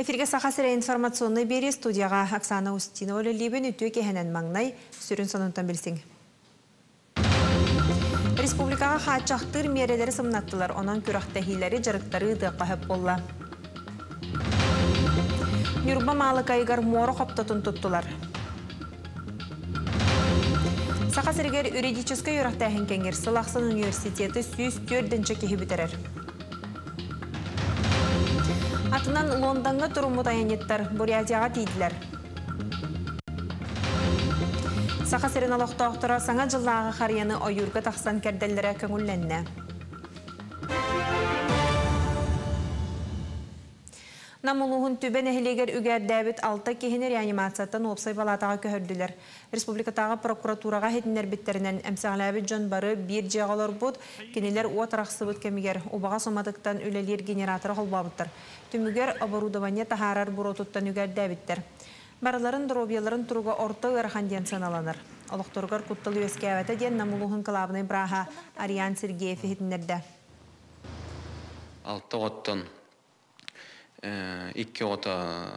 Эфиргэ Саха сирэ информационнай биэрии студияҕа Оксана Устинова үлэлиибин үтүө киэһэнэн маҥнай сүрүн сонунтан билсиҥ. Республикаҕа хааччахтыыр миэрэлэри сымнаттылар, онон күрэхтэһиилэри, дьарыктары ыытыахха сөп буолла. Ньурба Маалыкайыгар муора хоптотун туттулар. Саха сиригэр юридическай үөрэхтээһин кэҥиир сыл ахсын университеты 104 киһи бүтэрэр. Атынан Лондоҥҥа туруммут айанньыттар Бурятияҕа тиийдилэр. Саха сирин олохтоохторо Саҥа дьыллааҕы харыйаны ойуурга тахсан кэрдэллэрэ көҥүллэннэ. Нам улууһун Түбэ нэһилиэгэр үгээрдээбит алта киһини реанимацияттан уопсай балаатаҕа көһөрдүлэр. Республикатааҕы прокуратураҕа иһитиннэрбиттэринэн, эмсэҕэлээбит дьон бары биир дьиэҕэ олорбут, кинилэр уот арахсыбыт кэмигэр убаҕас уматыктан үлэлиир генераторы холбообуттар. Түмүгэр оборудование таһаарар буруотуттан үгэрдээбиттэр. Барыларын доруобуйаларын туруга орто ыарахан диэн сыаналанар. Олохторугар куттал үөскээбэтэ диэн Нам улууһун кылаабынай бырааһа Ариан Сергеев иһитиннэрдэ. Алта оҕоттон икки оҕото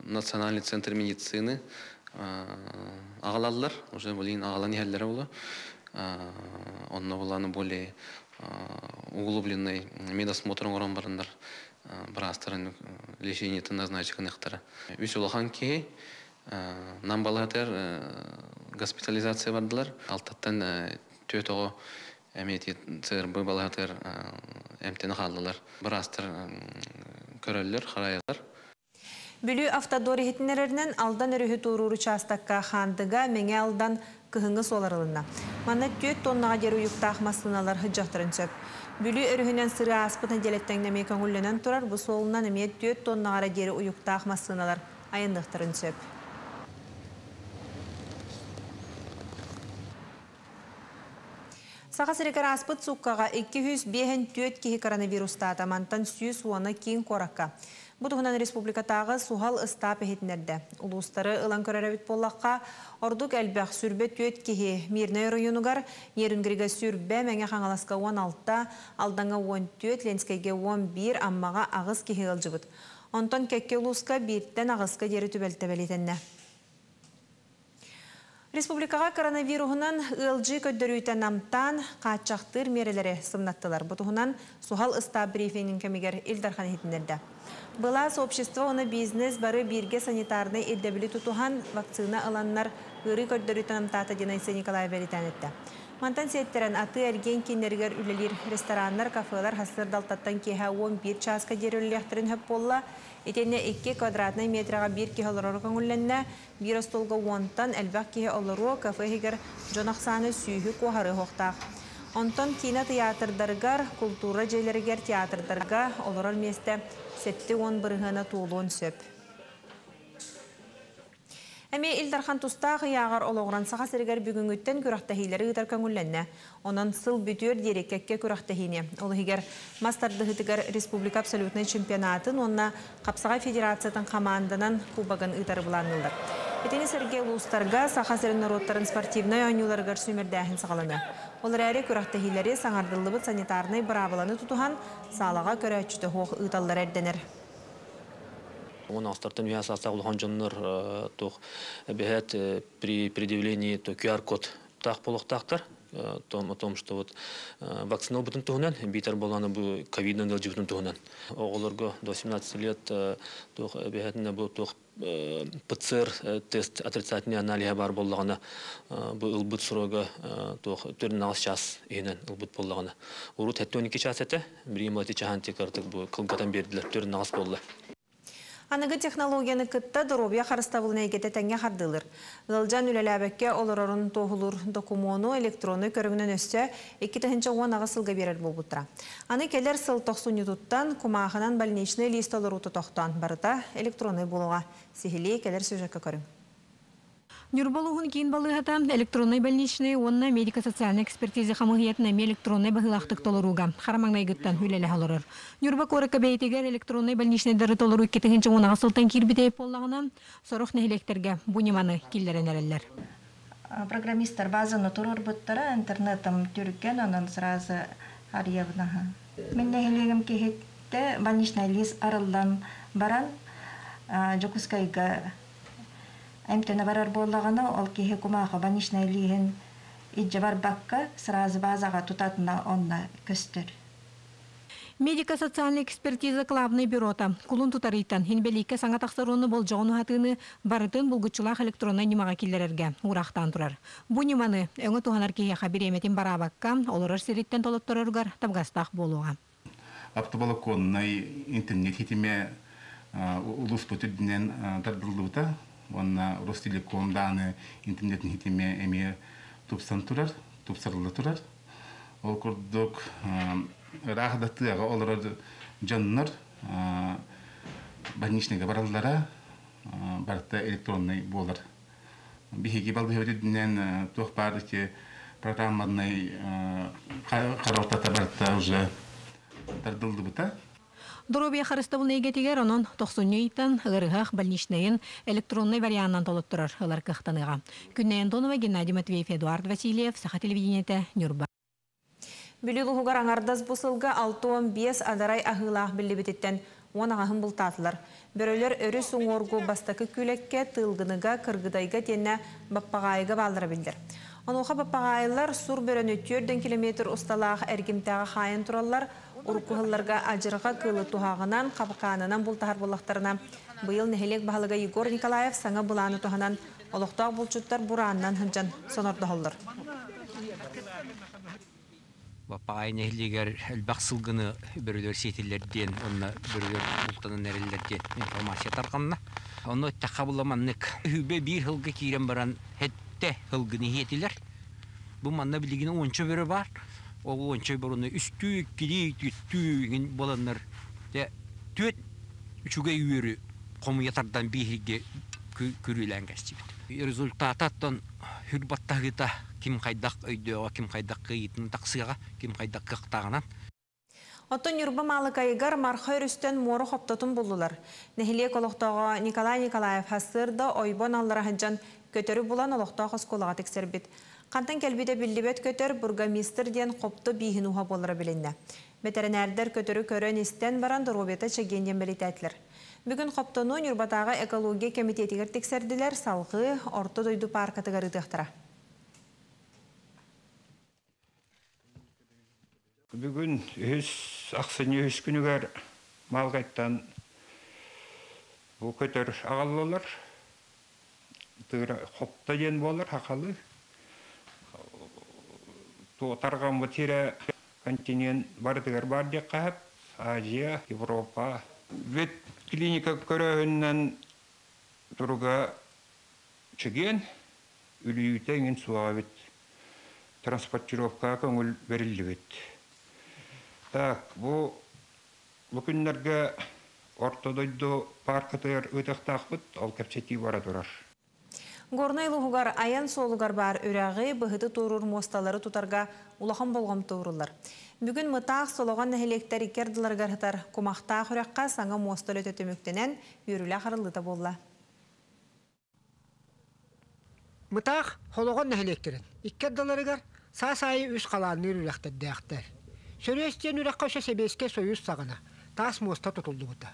Национальный центр медицины аҕалаллар, уже блин аҕалан иһэллэрэ буолуо. Онно буланы более углубленный медосмотр оҥорон бараннар быраастарын лечениетын назначить гыныахтара. Үс улахан киһи нам балаһатыгар госпитализация бардылар. Алтаттан түөрт оҕо эмиэ ЦРБ балаһатыгар эмтэнэ хааллылар. Быраастар көрөллөр, харайаллар. Бүлүү Автодор иһитиннэрэринэн Алдан өрүһү туоруур учаастакка Хаандыга, Мэҥэ Алдан кыһыҥҥы суол арылынна. Манна 4 тоннаҕа диэри уйуктаах массыыналар сылдьыахтарын сөп. Бүлүү өрүһүнэн сырыы ааспыт нэдиэлэттэн эмиэ көҥүллэнэн турар, бу суолунан эмиэ 4 тоннаҕа эрэ диэри уйуктаах массыыналар айанныахтарын сөп. Саха сиригэр ааспыт сууккаҕа 254 киһи коронавирустаата, мантан 110 киин куоракка. Бу туһунан республикатааҕы суһал ыстаап иһитиннэрдэ. Улуустары ылан көрөр эбит буоллахха, ордук элбэх сүрбэ түөрт киһи Мирнэй оройуонугар, Нерюнгрига сүрбэ, Мэҥэ Хаҥаласка 16, Алдаҥҥа 14, Ленскэйгэ 11, Аммаҕа аҕыс киһи ыалдьыбыт. Онтон кэккэ улууска бииртэн аҕыска диэри түбэлтэ бэлиэтэннэ. Республикаҕа коронавируһунан ыалдьыы көрдөрүүтэ намтаан, хааччахтыыр миэрэлэри сымнаттылар. Бу туһунан суһал ыстаап брифингин кэмигэр Ил Дархан иһитиннэрдэ. Былаас, общество уонна бизнес бары бииргэ санитарнай ирдэбили тутуһан, вакцина ыланнар ыарыы көрдөрүүтэ намтаата диэн Айсен Николаев бэлиэтээн эттэ. Мантан сиэттэрэн атыы-эргиэн кииннэригэр үлэлиир рестораннар, кафелар сарсыардалтаттан киэһэ 11 чааска диэри үлэлиэхтэрин сөп буолла. Итиэннэ 2 квадратнай метраҕа биир киһи олороро көҥүллэннэ. Биир остуолга уонтан элбэх киһи олоруо, кафе иһигэр дьон ахсаана сүүһү куоһарыа суохтаах. Онтон киинэ тыйаатырдарыгар, култуура дьиэлэригэр, театрдарга олорор миэстэ 70 бырыһыана туолуон сөп. Эмиэ Ил Дархан тустаах ыйааҕар олоҕуран Саха сиригэр бүгүҥҥүттэн күрэхтэһиилэри ыытар көҥүллэннэ. Онон сыл бүтүөр диэри кэккэ күрэхтэһиини, ол иһигэр мас тардыһыытыгар республика абсолютнай чемпионатын уонна Хапсаҕай федерациятын хамаанданан кубогын ыытары былаанныыллар. Итини сэргэ улуустарга Саха сирин норуоттарын спортивнай оонньууларыгар сүүмэрдээһин саҕаланыа. Ол эрээри күрэхтэһиилэри саҥардыллыбыт санитарнай быраабыланы тутуһан, саалаҕа көрөөччүтэ суох ыыталлара ирдэнэр. Уон астартан үһэ саастаах улахан дьоннор туох эбэһээт при предъявлении то QR-код таах буолуохтаахтар о том, что вот вакцина ылбытын туһунан, биитэр буоллаҕына бу ковидынан ыалдьыбытын туһунан. Оҕолорго до 17 лет туох эбэһээтинэ бу туох ПЦР тест отрицательный аналиһа баар буоллаҕына бу ылбыт срога туох төрүн час иһинэн ылбыт буоллаҕына. Урут 72 час этэ, билигин ити чаһан тик бу кылгатан биэрдилэр, төрүн аҕыс буолла. Аныгы технологияны кытта доруобуйа харыстабылын эйгэтэ тэҥҥэ хардыылыр. Ыалдьан үлэлээбэккэ олорорун туоһулуур докумуону электроннай көрүҥүнэн өссө 2018 сылга биэрэр буолбуттара. Аны кэлэр сыл тохсунньутуттан кумаахынан больничный лист толоруута тохтоон барыта электроннай буолуоҕа. Сиһилии кэлэр сюжекка көрүҥ. Ньурба улууһун киин балыыһата электроннай больничнай уонна медико-социальнай экспертиза хамыыһыйатын эмиэ электроннай быһыылаахтык толорууга хара маҥнайгыттан үлэлэһэ олорор. Ньурба куоракка бэйэтигэр электроннай больничнайдары толоруу 2010 сылтан киирбитэ буоллаҕына, сорох нэһилиэктэргэ бу ньыманы киллэрэн эрэллэр. Программисттар базаны туруорбуттара, интернетом түргэн, онон сразу арыйабын. Мин нэһилиэгим киһиттэ больничный лист арыллан баран, Дьокуускайга эмтэнэ барар буоллаҕына, ол киһи кумааҕы больничнай лииһин илдьэ барбакка, сразу базаҕа тутатына онно көстөр. Медико-социальнай экспертиза главнай бюрота кулун тутар ыйтан инбэлииккэ саҥа тахсар уонна болдьоҕун уһатыыны барытын булгуччулаах электроннай ньымаҕа киллэрэргэ уураахтаан турар. Бу ньыманы өҥө туһанар киһиэхэ бириэмэтин бараабакка, олорор сириттэн толоттороругар табыгастаах буолуоҕа. Оптоволоконнай интернет ситимэ улууспут үрдүнэн тардыллыбыта уонна Ростелеком дааны интернет ситимэ эмиэ тупсан турар, тупсарылла турар. Ол курдук ыраах да тыаҕа олорор дьоннор больничныйга бараллара барыта электроннай буолар. Биһиги балыыһабыт үрдүнэн туох баар ити программанай харалтата барыта уже тардыллыбыта. Доруобуйа харыстабылын эйгэтигэр онон тохсунньу ыйтан ыарыһах больничнайын электроннай варианынан толотторор ылар кыахтаныаҕа. Күннэй Антонова, Геннадий Матвеев, Эдуард Васильев, Саха телевидениетэ, Ньурба. Бүлүү улууһугар аҥардас бу сылга 65 адарай аһыылаах биллибититтэн 10 аҕыһын бултаатылар. Бөрөлөр өрүс уҥуоргу бастакы Күүлэккэ, Тыылгыныга, Кыргыдайга итиэннэ Баппаҕаайыга бааллара биллэр. Онуоха баппаҕаайылар сур бөрөнү 4 километр усталаах эргимтэҕэ хаайан тураллар. Урукку сылларга адьырҕа кыылы туһаҕынан, хапкаанынан бултаһар буоллахтарына, быйыл нэһилиэк баһылыга Егор Николаев саҥа былааны туһанан олохтоох булчуттар бураанынан сылдьан сонордоһоллор. Баппаҕаайы нэһилиэгэр элбэх сылгыны бөрөлөр сиэтилэр диэн, онно бөрөлөр бултанан эрэллэр диэн информация тарҕанна. Онно эттэххэ була маннык. 21 сылга киирэн баран сэттэ сылгыны сиэтилэр. Бу манна билигин 10-ча бөрө баар. Ол 10-ча бөрөнү үстүү, иккилии, түөртүү буоланнар түөрт үчүгэй үөрү хомуйа тардан бииһиргэ күрүөлээн кэстибит. Результататтан сүр баттаһыыта ким хайдах өйдөөҕө, ким хайдах кыайыытын тахсыаҕа, ким хайдах кыахтааҕынан. Оттон Ньурба Маалыкайыгар Марха өрүстэн муора хоптотун буллулар. Нэһилиэк олохтооҕо Николай Николаев сарсыарда ойбон аллара сылдьан көтөрү булан олохтоох оскуолаҕа тиксэрбит. Хантан кэлбитэ биллибэт көтөр бургомистр диэн хопто бииһин ууһа буолара билиннэ. Бэтэринээрдэр көтөрү көрөн истэн баран доруобуйата чэгиэн диэн бэлиэтээтилэр. Бүгүн хоптону Ньурбатааҕы экология комитетигэр тиксэрдилэр, салгыы Орто дойду пааркатыгар ыытыахтара. Бүгүн үһүс ахсынньы үһүс күнүгэр Маалыкайтан бу көтөр аҕаллылар. Тыыра хопто диэн буолар сахалыы. Тарҕаммыт сирэ континент барытыгар баар диэххэ сөп. Азия, Европа. Вет клиника көрөөһүнүнэн туруга чэгиэн, үлүйүүтэ эҥин суоҕа эбит. Транспортировкаҕа көҥүл бэриллибит. Так, бу күннэргэ Орто дойду пааркатыгар ыытыахтаахпыт, ол кэпсэтии бара турар. Горнай улууһугар айан суолугар баар үрэҕи, быһыты туоруур муосталары тутарга улахан болҕомто ууруллар. Бүгүн Мытаах Солоҕон нэһилиэктэр икки ардыларыгар сытар Кумахтаах үрэххэ саҥа муоста үлэтэ түмүктэнэн, үөрүүлээх арыллыыта буолла. Мытаах Солоҕон нэһилиэктэрин икки ардыларыгар саас аайы үс халаанныыр үрэхтэрдээхтэр. Сөрүөс диэн үрэххэ өссө Сэбиэскэй Сойуус саҕана таас муоста тутуллубута.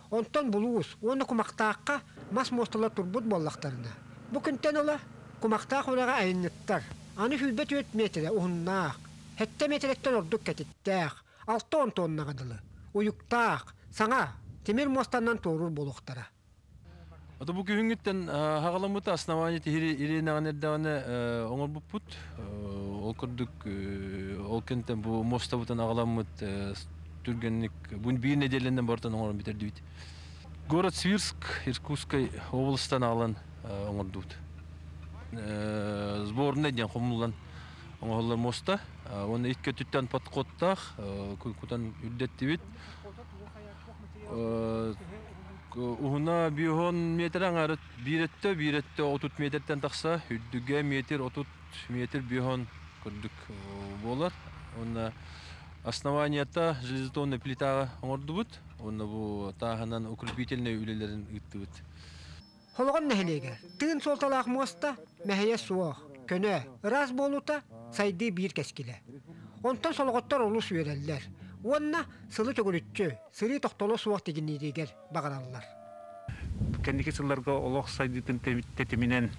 Онтон Булуус уонна Кумахтаахха мас муосталар турбут буоллахтарына, бу күнтэн ыла Кумахтаах үрэҕи айанньыттар аны 24 миэтэрэ уһуннаах, 7 миэтэрэттэн ордук кэтиттээх, 60 тоннаҕа дылы уйуктаах, саҥа тимир муостанан туоруур буолуохтара. Ото бу күһүҥҥүттэн саҕаламмыта основание тиһири иринэҕин эрдэҕинэ оҥорбуппут. Ол курдук ол кэнтэн бу муостабытын аҕаламмыт түргэнник бу биир нэдиэлэнэн бартан оҥорон бүтэрдибит. Город Свирск Иркутской областан аҕалан оҥордубут. Сборный диэн хомуллан оҥоһуллар муоста. Уонна икки өттүттэн подходтаах кутан үрдэттибит. Уһуна 50 метр аҥары биир өттө 30 метртэн тахса, үрдүгэ метр 30 метр 50 курдук буолар. Уонна основанията железобетонный плитаҕа оҥордубут. Уонна бу тааһынан укрепительный үлэлэрин ыыттыбыт. Солоҕон нэһилиэгэр тыын суолталаах муоста мэһэйэ суох, көнө, ыраас буолуута сайдыы биир кэскилэ. Онтон солоҕоттор олус үөрэллэр. Уонна сылы төгүрүччү, сырыы тохтоло суох тигинииригэр баҕараллар. Кэнники сылларга олох сайдыытын тэтиминэн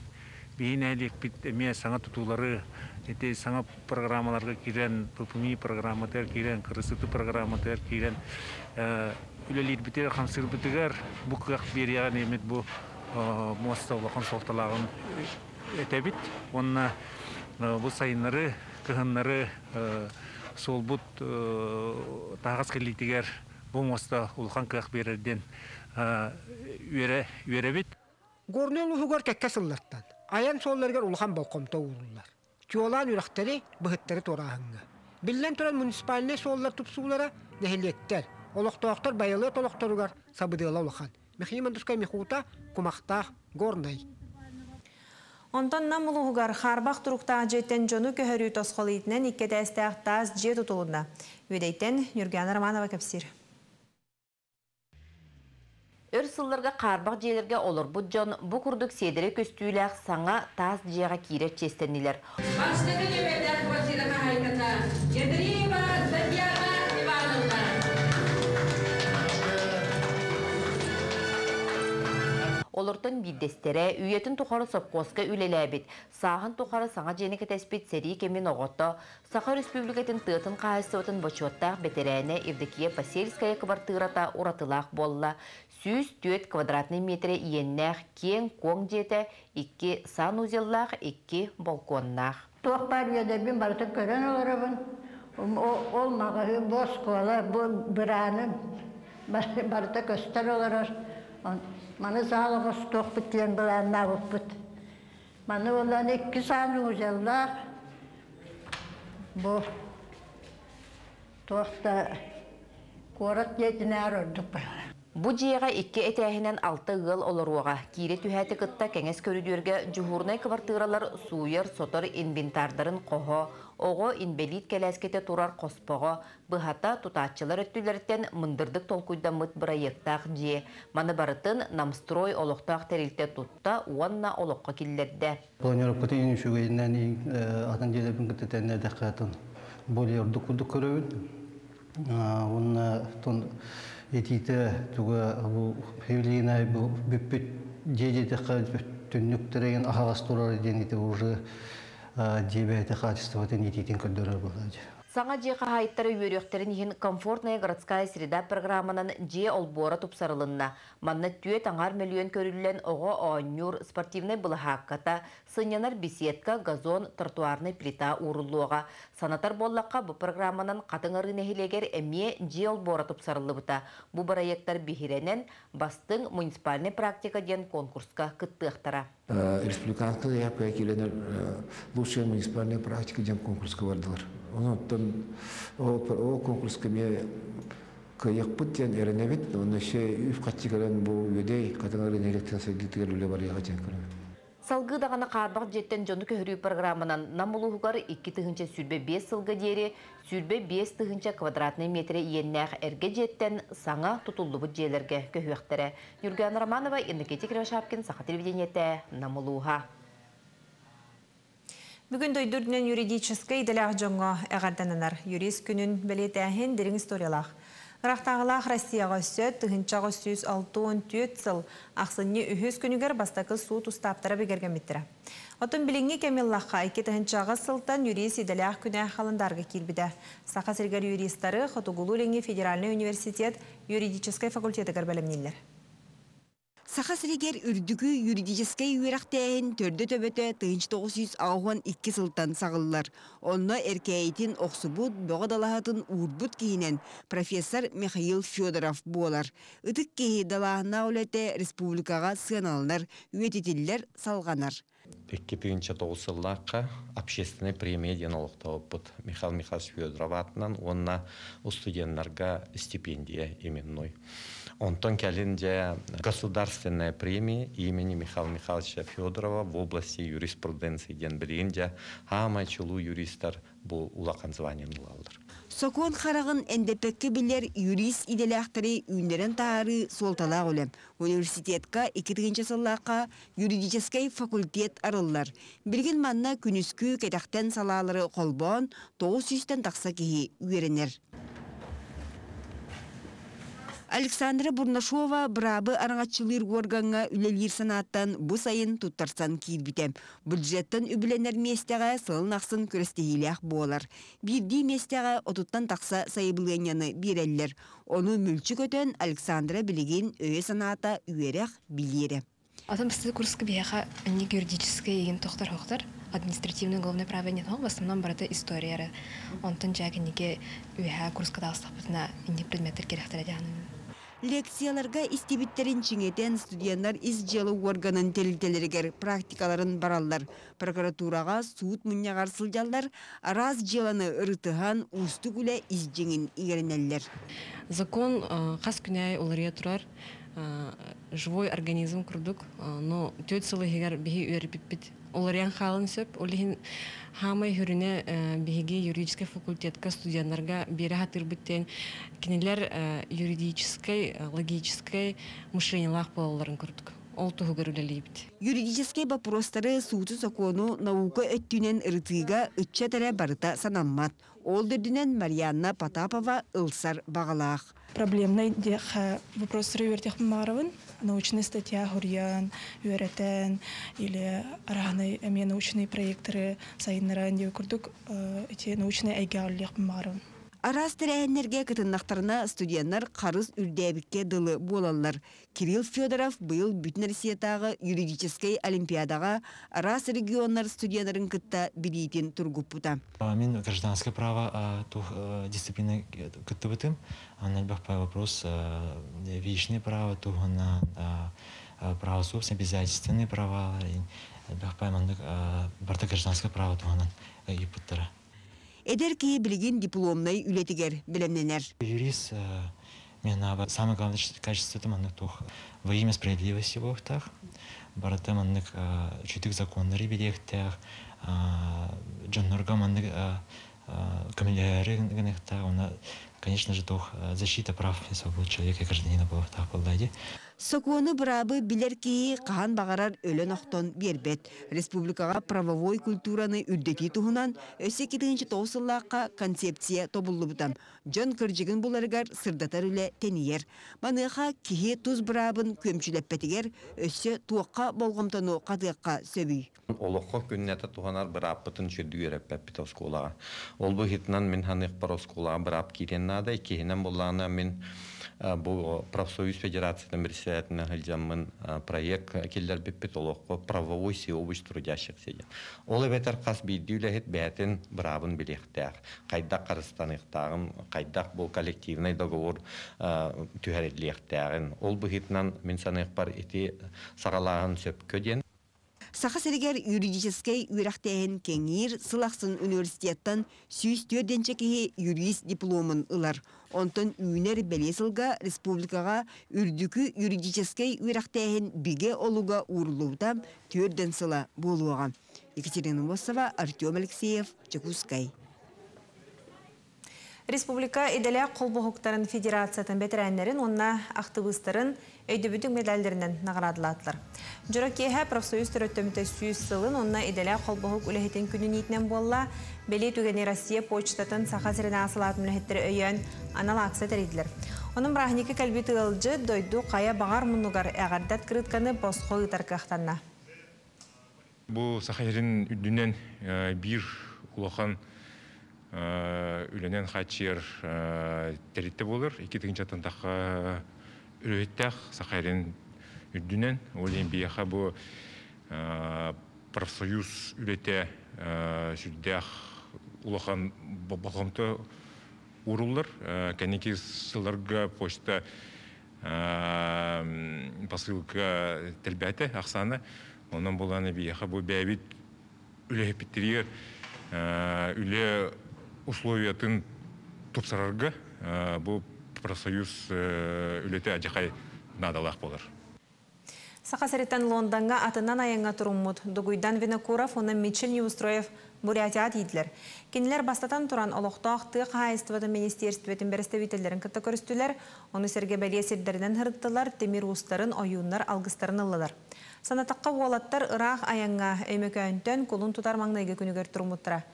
биһи нэһилиэкпит эмиэ саҥа тутуулары ити саҥа программаларга киирэн, ППМИ программатыгар киирэн, кырысыты программатыгар киирэн үлэлиирбитигэр, хамсыырбытыгар бу кыах биэриэҕин эмит бу муоста улахан суолталааҕын этэбит. Уонна бу сайыннары, кыһыннары суолбут таһаҕас кэлиитигэр бу муоста улахан кыах биэрэр диэн үөрэ үөрэбит. Горнай улууһугар кэккэ сыллартан айан суолларыгар улахан болҕомто ууруллар. Чуолаан үрэхтэри, быһыттары туорааһыҥҥа. Биллэн туран муниципальнай суоллар тупсуулара нэһилиэктэр, олохтоохтор байылыат олохторугар сабыдыала улахан. Михаил Мандускай Михута, Кумахтаах, Горнай. Онтон Нам улууһугар хаарбах туруктаах дьиэттэн дьону көһөрүү тосхол иитинэн икки этээстээх таас дьиэ тутулунна. Үөдэйтэн Ньургуяна Романова кэпсиир. Өр сылларга хаарбах дьиэлэргэ олорбут дьон бу курдук сиэдэрэй көстүүлээх саҥа таас дьиэҕэ киирэр чиэстэннилэр. Бастакы нүөмэрдээх квартира хаһаайката Ядреева Татьяна Ивановна. Олортон биирдэстэрэ үйэтин тухары сопхуоска үлэлээбит, сааһын тухары саҥа дьиэни кэтэспит сэрии кэмин оҕото, Саха Өрөспүүбүлүкэтин тыатын хаһаайыстыбатын бочуоттаах бэтэрээнэ Евдокия Посельская кыбартыырата уратылаах буолла. 104 квадратнай миэтэрэ иэннээх киэҥ-куоҥ дьиэтэ, икки санузеллаах, икки балконнаах. Туох баар үөдэйбин барытын көрөн олоробун. Ол маҕаһыын, бу оскуола, бу бырааным барыта көстөр олорор. Маны саал оҥостуохпут диэн былааннаабыппыт. Маны буолан икки санузеллаах бу туох да куорат дьиэтинээҕэр ордук баҕар. Бу дьиэҕэ икки этээһинэн алта ыал олоруоҕа. Киирэ түһээти кытта кэҥэс көрүдүөргэ дьуһуурунай кыбартыыралар сууйар-сотор инвентардарын хоһо, оҕо инбэлиит кэлээскэтэ турар хоспоҕо, быһата, тутааччылар өттүлэриттэн мындырдык толкуйдаммыт бырайыактаах дьиэ. Маны барытын Намстрой олохтоох тэрилтэ тутта уонна олоххо киллэрдэ. Планировкатын иин үчүгэйинэн атын дьиэлэрбин кытта тэннээдэххэ атын более ордук курдук көрөбүн. Уонна тон этиитэ туга бу Евелина бу бүппүт дьиэ диэтэххэ түннүктэрин аһаҕас турар диэн ити уже дьиэ бэйэтэ хаачыстыбатын итиитин көрдөрөр буолла. Саҥа дьиэ хаһаайыттара үөрүөхтэрин иһин Комфортная городская среда программанан дьиэ олбуора тупсарылынна. Манна түөрт аҥаар мөлүйүөн көрүллэн оҕо оонньуур спортивнай былаһаакката, сынньанар беседка, газон, тротуарнай плита ууруллуоҕа. Санатар буоллахха, бу программанан Хатыҥ Арыы нэһилиэгэр эмиэ дьиэ олбуора тупсарыллыбыта. Бу бырайыактар биһирэнэн, Бастыҥ муниципальнай практика диэн конкурска кыттыахтара. Республиканскай заявка киирэнэр лучшая муниципальная практика диэн конкурска бардылар. Онон ол конкурска эмиэ кыайыахпыт диэн эрэнэбит. Онно өссө үп-харчы кэлэн бу үөдэй Хатыҥ Арыы нэһилиэктэрин сайдыытыгар үлэ барыаҕа диэн көрөбүт. Салгыы даҕаны хаарбах дьиэттэн дьону көһөрүү программанан Нам улууһугар 2025 сылга диэри 25 тыһыынча квадратнай миэтэрэ иэннээх эргэ дьиэттэн саҥа тутуллубут дьиэлэргэ көһүөхтэрэ. Ньургуяна Романова, Иннокентий Кривошапкин, Саха телевидениетэ, Нам улууһа. Бүгүн дойду үрдүнэн юридическай идэлээх дьоҥҥо эҕэрдэнэнэр. Юрист күнүн бэлиэтээһин дириҥ историялаах. Ыраахтааҕылаах Россияҕа өссө 1864 сыл ахсынньы үһүс күнүгэр бастакы суут устааптара бигэргэммиттэрэ. Оттон билиҥҥи кэми ыллахха, 2008 сылтан юрист идэлээх күнэ халандаарга киирбитэ. Саха сиригэр юристары Хотугулуу-Илиҥҥи федеральнай университет юридическай факультетыгар бэлэмнииллэр. Саха сиригэр үрдүкү юридическай үөрэхтээһин төрдө-төбөтө 1982 сылтан саҕыллар. Онно эркээйитин охсубут, бөҕө далаһатын уурбут киһинэн профессор Михаил Федоров буолар. Ытык киһи далааһыннаах үлэтэ республикаҕа сыаналанар, үйэтитиллэр, салҕанар. 2009 сыллаахха общественнай премия диэн олохтообуппут Михаил Михайлович Федоров аатынан уонна студеннарга стипендия именной. Онтон кэлин дьэ государственная премия имени Михаила Михайловича Федорова в области юриспруденции диэн билигин дьэ хаамай чулуу юристар бу улахан званиены ылаллар. Сокуон хараҕын эндэппэккэ билэр юрист идэлээхтэри үүннэрэн таһаарыы суолталаах үлэ. Университетка 2000 сыллаахха юридическай факультет арыллар. Билигин манна күнүскү кэтэхтэн салаалары холбоон 900-тэн тахса киһи үөрэнэр. Александра Бурнашова быраабы араҥаччылыыр уоргаҥҥа үлэлиир санааттан бу сайын туттарсан киирбитэ. Бюджеттан үбүлэнэр миэстэҕэ сылын ахсын күрэстэһиилээх буолар. Биирдии миэстэҕэ отуттан тахса сайабылыанньаны биэрэллэр. Ону мүлчү көтөн Александра билигин өйө-санаата үөрэх билиэрэ. Атын бастакы курска биһиэхэ инник юридическай игин тохтор хохтор, административный уголовное право не в основном барыта история эрэ. Онтон дьэ кинигэ үөһээ курска таҕыстахпытына инник предметтэр кирэхтэрэ диэханын. Лекцияларга истибиттэрин чиҥэтэн студеннар ис дьыала уорганын тэрилтэлэригэр практикаларын бараллар. Прокуратураҕа суут мунньаҕар сылдьаллар, араас дьыаланы ырытыһан уустук үлэ ис дьиҥин иҥэринэллэр. Закон хас күн аайы уларыйа турар живой организм курдук, но түөрт сыл иһигэр биһи үөрпиппит уларыйан хаалын сөп. Ол иһин хаамай хүрүнэ биһиги юридическай факультетка студеннарга биэрэ сатыырбыт диэн кинилэр юридическай, логическай мышлениелаах буолалларын курдук. Ол туһугар үлэлиибит. Юридическай боппуруостары сууту-сокуону наука өттүнэн ырытыыга ыччат эрэ барыта санаммат. Ол да үрдүнэн Марианна Потапова ылсар баҕалаах. Проблемнай диэххэ вопростары үөрэтиэхпин баҕарабын. Научнай статья суруйан, үөрэтэн или араһынай эмиэ научный проекторы сайыннаран диэн курдук ити научнай эйгэҕэ үлэлиэхпин баҕарабын. Араас тэрээһиннэргэ кытыннахтарына студеннар харыс үрдээбиккэ дылы буолаллар. Кирилл Федоров быйыл Бүтүн Россиятааҕы юридическай олимпиадаҕа араас регионнар студеннарын кытта билиитин тургуппута. Мин гражданское право тух дисциплина кыттыбытым. Анна вопрос вечное право туһунан право собственности, обязательственные права, барта гражданское право туһунан ыйыппыттара. Эдэр киһи билигин дипломнай үлэтигэр бэлэмнэнэр. Юрист мен самое главное качество это маннык туох во имя справедливости буолуохтаах. Барыта маннык үчүгэй законнары билиэхтээх, дьоннорго маннык көмөлөһөрү гыныахтаах. Уонна, конечно же, туох защита прав и свобод человека и гражданина буолуохтаах буолла Сокуону быраабы билэр киһи хаһан баҕарар өлөн-охтон биэрбэт. Республикаҕа правовой культураны үрдэтии туһунан өссө 2009 сыллаахха концепция тобуллубута. Дьон кырдьыгын буларыгар сырдатар үлэ тэнийэр. Маныаха киһи тус быраабын күөмчүлэппэтигэр өссө туохха болҕомтону хатыахха сөбүй? Олоххо күннэтэ туһанар бырааппытын сүрдүү үөрэппэппит оскуолаҕа. Ол быһыытынан мин саныахпар оскуолаҕа быраап киириэн наада. Иккиһинэн буоллаҕына мин бу профсоюз федерациятын председателинэн сылдьаммын проект киллэрбиппит олоххо правовой всеобщ трудящихся диэн. Ол эбэтэр хас биирдии үлэһит бэйэтин быраабын билиэхтээх. Хайдах харыстаныахтааҕын, хайдах бу коллективный договор түһэриллиэхтээҕин. Ол быһыытынан мин саныахпар ити саҕалааһын сөпкө диэн. Саха сиригэр юридическэй үөрэхтээһин кэҥиир, сыл ахсын университеттан 104 киһи юрист дипломун ылар. Онтон үүнэр бэлиэ сылга республикаҕа үрдүкү юридическэй үөрэхтээһин бигэ олуга ууруллубута 40 сыла буолуоҕа. Екатерина Мосова, Артем Алексеев, Дьокуускай. Республика идэлээх холбоһуктарын федерациятын бэтэрээннэрин уонна актыбыыстарын өйдөбүнньүк медаллэринэн наҕараадалаатылар. Дьоро киэһэ профсоюз төрүттэммитэ 100 сылын уонна идэлээх холбоһук үлэһитин күнүн иитинэн буолла. Бэлиэ түгэни Россия почтатын Саха сиринээҕи салаатын үлэһиттэрэ өйөөн анал акция тэрийдилэр. Онон бырааһынньыкка кэлбит ыалдьыт дойду хайа баҕар муннугар эҕэрдэ открытканы босхо ыытар кыахтанна. Бу Саха сирин үрдүнэн биир улахан үлэнэн хааччыйар тэрилтэ буолар. 2000 тахха үлэһиттээх Саха сирин үрдүнэн. Ол иһин биһиэхэ бу профсоюз үлэтэ сүрдээх улахан болҕомто ууруллар. Кэнники сылларга почта посылка элбээтэ ахсаана. Онон буолан биһиэхэ бу бэйэбит үлэһиппитигэр үлэ условиятын тупсарарга бу профсоюз үлэтэ адьахай наадалаах буолар. Саха сириттэн Лондоҥҥа атынан айаҥҥа туруммут Дугуйдан Винокуров уонна Мичил Неустроев Бурятияҕа тиийдилэр. Кинилэр бастатан туран олохтоох тыа хаһаайыстыбатын министиэристибэтин бэрэстэбиитэллэрин кытта көрүстүлэр, ону сэргэ бэлиэ сирдэринэн сырыттылар, тимир уустарын, ойууннар алгыстарын ыллылар. Санатахха уолаттар ыраах айаҥҥа Өймөкөөнтөн кулун тутар маҥнайгы күнүгэр туруммуттара.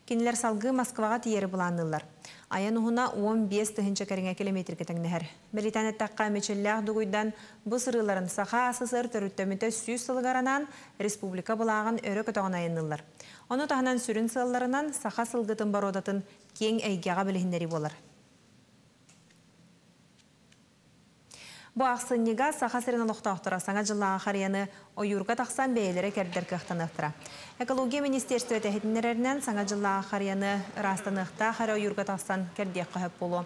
Кинилэр салгыы Москваҕа тиийэри былаанныыллар. Айан уһуна 15 тыһыынча кэриҥэ километрга тэҥнэһэр. Бэлиэтээн эттэххэ, Мичиллээх Дугуйдан бу сырыыларын Саха АССР төрүттэммитэ 100 сылыгар анаан республика былааҕын өрө көтөҕөн айанныыллар. Ону таһынан сүрүн сыалларынан саха сылгытын боруодатын киэҥ эйгэҕэ билиһиннэрии буолар. Бу ахсынньыга Саха сирин олохтоохторо Саҥа дьыллааҕы харыйаны ойуурга тахсан бэйэлэрэ кэрдэр кыахтаныахтара. Экология министиэристибэтэ иһитиннэрэринэн, Саҥа дьыллааҕы харыйаны ыраастаныахтаах эрэ ойуурга тахсан кэрдиэххэ сөп буолуо.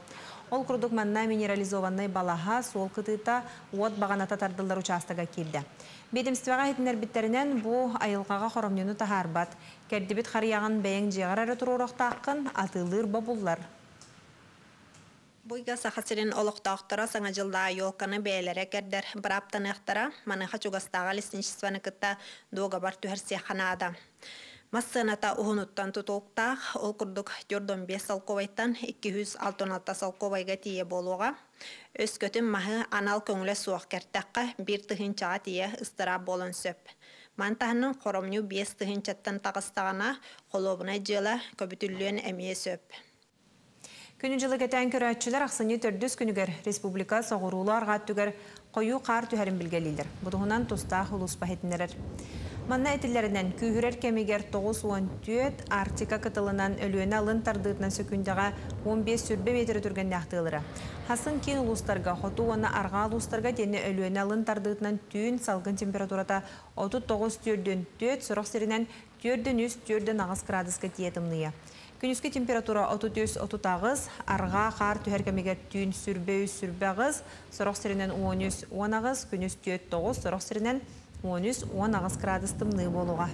Ол курдук манна минерализованнай балаһа, суол кытыыта, уот баҕаната тардыллар учаастага киирдэ. Биэдэмистибэҕэ иһитиннэрбиттэринэн, бу айылҕаҕа хоромньуну таһаарбат. Кэрдибит харыйаҕын бэйэҥ дьиэҕэр эрэ туруоруохтааххын, атыылыыр бобуллар. Бу ыйга Саха сирин олохтоохторо Саҥа дьыллааҕы елканы бэйэлэрэ кэрдэр бырааптаныахтара, маныаха чугастааҕы лесничествоны кытта дуогабар түһэрсиэххэ наада. Мас сыаната уһунуттан тутулуктаах, ол курдук 45 солкуобайтан 266 солкуобайга тиийэ буолуоҕа. Өскөтүн маһы анал көҥүлэ суох кэртэххэ, биир тыһыынчаҕа тиийэ ыстараап буолуон сөп. Маны таһынан хоромньу 5 тыһыынчаттан таҕыстаҕына, холуобунай дьыала көбүтүллүөн эмиэ сөп. Күнү-дьылы кэтээн көрөөччүлэр ахсынньы төрдүс күнүгэр республика соҕуруулуу-арҕаа өттүгэр хойуу хаар түһэрин билгэлииллэр. Бу туһунан тустаах улууспа иһитиннэрэр. Манна этиллэринэн, күүһүрэр кэмигэр 94 Арктика кытылынан Өлүөнэ алын тардыытынан сөкүүндэҕэ 15 сүүрбэ миэтэрэ түргэннээх тыалыра. Хасын киин улуустарга, хоту уонна арҕаа улуустарга итиэннэ Өлүөнэ алын тардыытынан түүн салгын температурата 39 түөрдүөн түөрт, сорох сиринэн түөрдэн үс, түөрдэн аҕыс кыраадыска тиийэ тымныйа. Күнүскү температура 33-38, арҕаа хаар түһэр кэмигэр түүн сүрбэ үс, сүрбэ аҕыс, сорох сиринэн 13, 18, күнүс түөрт, тоҕус, сорох сиринэн 13, 18 кыраадыс тымныы буолуоҕа.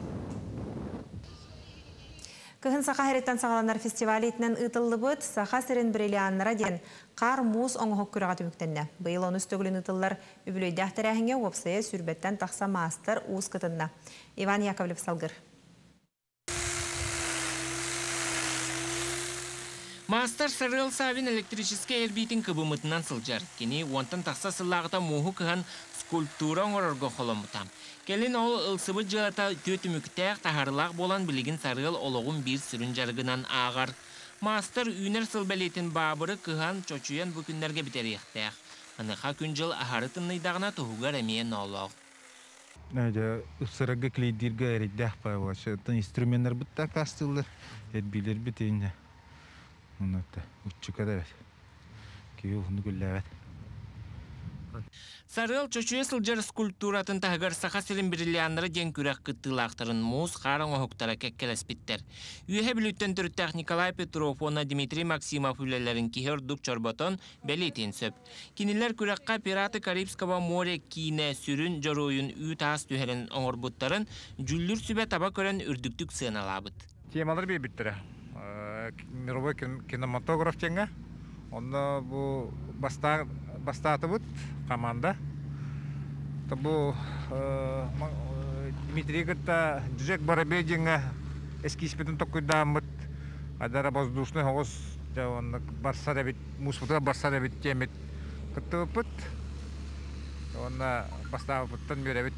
Кыһын Саха сириттэн саҕаланар фестиваль иитинэн ыытыллыбыт Саха сирин бриллианнара диэн хаар-муус оҥоһук күрэҕэ түмүктэннэ. Быйыл онус төгүлүн ыытыллар үбүлүөйдээх тэрээһиҥҥэ уопсайа сүүрбэттэн тахса маастар уус кытынна. Иван Яковлев салгыр. Маастар Сарыал Савин электрическэй эрбиитин кыбыммытынан сылдьар. Кини уонтан тахса сыллааҕыта мууһу кыһан скульптура оҥорорго холоммута. Кэлин ол ылсыбыт дьыалата үтүө түмүктээх, таһаарыылаах буолан билигин Сарыал олоҕун биир сүрүн дьарыгынан ааҕар. Маастар үүнэр сыл бэлиэтин баабыры кыһан, чочуйан бу күннэргэ бүтэриэхтээх. Маныаха күн-дьыл аһары тымныйдаҕына туһугар эмиэ ноолоох. Дьэ, ыпсарарга клейдииргэ эрэйдээх баҕайы. Оттон инструменнарбыт да аккаастыыллар, эрбиилэрбит инньэ. Онно уччука да эбит. Киһи уһуннук үллээбэт. Сарыал чочуйа сылдьар скульптуратын таһыгар Саха сирин бриллианнара диэн күрэх кыттыылаахтарын муус хаар оҥоһуктара кэккэлэспиттэр. Үөһэ Бүлүүттэн төрүттээх Николай Петров уонна Дмитрий Максимов үлэлэрин киһи ордук чорботон бэлиэтиэн сөп. Кинилэр күрэххэ «Пираты Карибского моря» киинэ сүрүн дьоруойун үүт-аас түһэрэн оҥорбуттарын дьүүллүүр сүбэ таба көрөн үрдүктүк сыаналаабыт. Темалар биэрбиттэрэ. Мировой кинематограф диэҥҥэ. Онно бу бастаатыбыт команда. Бу Дмитрий кытта Джек Воробей диэҥҥэ эскизпитин токкуйдааммыт адара воздушный оҕус дьэ оннук барсар эбит мууспутугар барсар эбит диэммит кыттыбыппыт уонна бастаабыппыттан үөрэбит.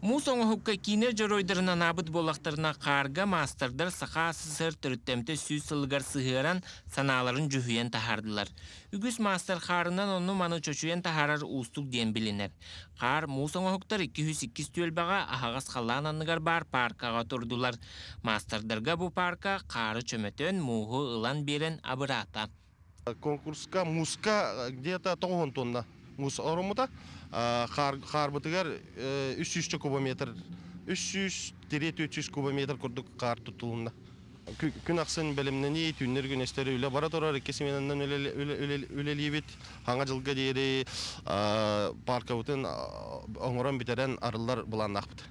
Муус оҥоһукка киинэ дьоруойдарын анаабыт буоллахтарына, хаарга маастардар Саха СССР төрүттэмтэ 100 сылыгар сыһыаран, санааларын дьүһүйэн таһаардылар. Үгүс маастар хаарынан онну-маны чочуйан таһаарар уустук диэн билинэр. Хаар муус оҥоһуктар 202 түөлбэҕэ аһаҕас халлаан анныгар баар пааркаҕа турдулар. Маастардарга бу паарка хаары чөмөтөн, мууһу ылан биэрэн абыраата. Конкурска мууска где-то 90 тонна муус ороммута. Хаарбытыгар 300 кубометр, 300-400 кубометр курдук хаар туттулунна. Күн ахсын бэлэмнэнии, түүннэр күнэстэр үлэ бара турар, икки сменанан үлэлиибит. Хаҥа дьылга диэри паркабытын оҥорон бүтэрэн арыллар былааннаахпыт.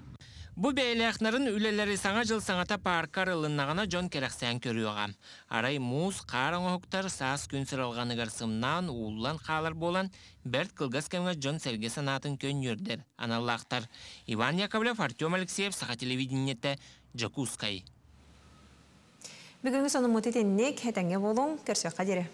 Бу бэйэлээх нарын үлэлэри Саҥа дьыл саҥата паарка арылыннаҕына дьон кэрэхсээн көрүөҕэ. Арай муус, хаар оҥоһуктар саас күн сыралҕаныгар сымнаан, ууллан хаалар буолан, бэрт кылгас кэмҥэ дьон-сэргэ санаатын көнньүөрдэр аналлаахтар. Иван Яковлев, Артем Алексеев, Саха телевидениетэ, Дьокуускай. Бүгүҥҥү сонуммут итинник, этэҥҥэ буолуҥ, көрсүөххэ диэри.